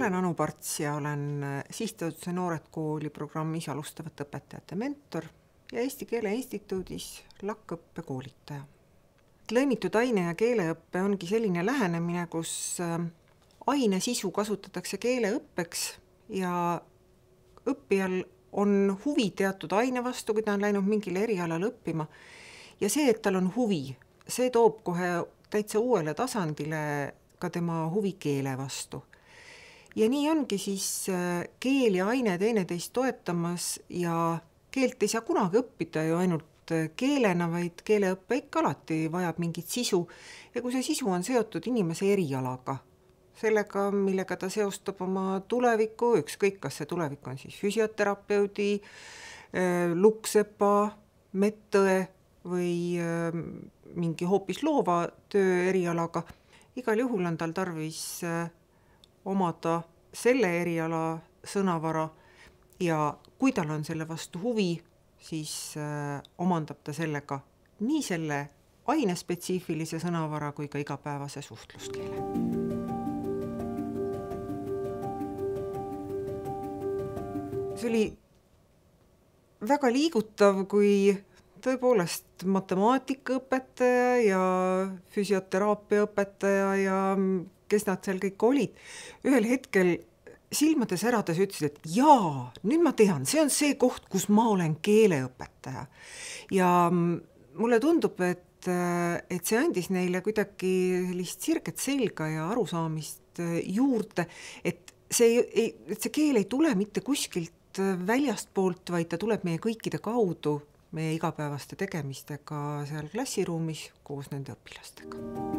olen Anu Parts ja olen Sihtasutuse Noored Kooli programmis alustavate õpetajate mentor ja Eesti Keele Instituudis LAK-õppe koolitaja. Lõimitud aine- ja keeleõppe ongi selline lähenemine, kus aine sisu kasutatakse keeleõppeks ja õppijal on huvi teatud aine vastu, kui ta on läinud mingile erialal õppima. Ja see, et tal on huvi, see toob kohe täitsa uuele tasandile ka tema huvi keele vastu. Ja nii ongi siis keel ja aine teineteist toetamas ja keelt ei saa kunagi õppida ju ainult keelena, vaid keeleõppe ikka alati vajab mingit sisu. Ja kui see sisu on seotud inimese erialaga, sellega, millega ta seostab oma tulevikku, ükskõik kas see tulevik on siis füsioterapeudi, lukksepa, medõe või mingi hoopis loova töö erialaga, igal juhul on tal tarvis omada selle eriala sõnavara ja kui tal on selle vastu huvi, siis omandab ta sellega nii selle ainespetsiifilise sõnavara kui ka igapäevase suhtluskeele. See oli väga liigutav, kui tõepoolest matemaatikaõpetaja ja füsioteraapia õpetaja ja kes nad seal kõik olid, ühel hetkel silmade särades ütlesid, et jaa, nüüd ma tean, see on see koht, kus ma olen keeleõpetaja. Ja mulle tundub, et see andis neile kuidagi sellist sirget selga ja arusaamist juurde, et see keel ei tule mitte kuskilt väljast poolt, vaid ta tuleb meie kõikide kaudu, meie igapäevaste tegemistega seal klassiruumis koos nende õpilastega.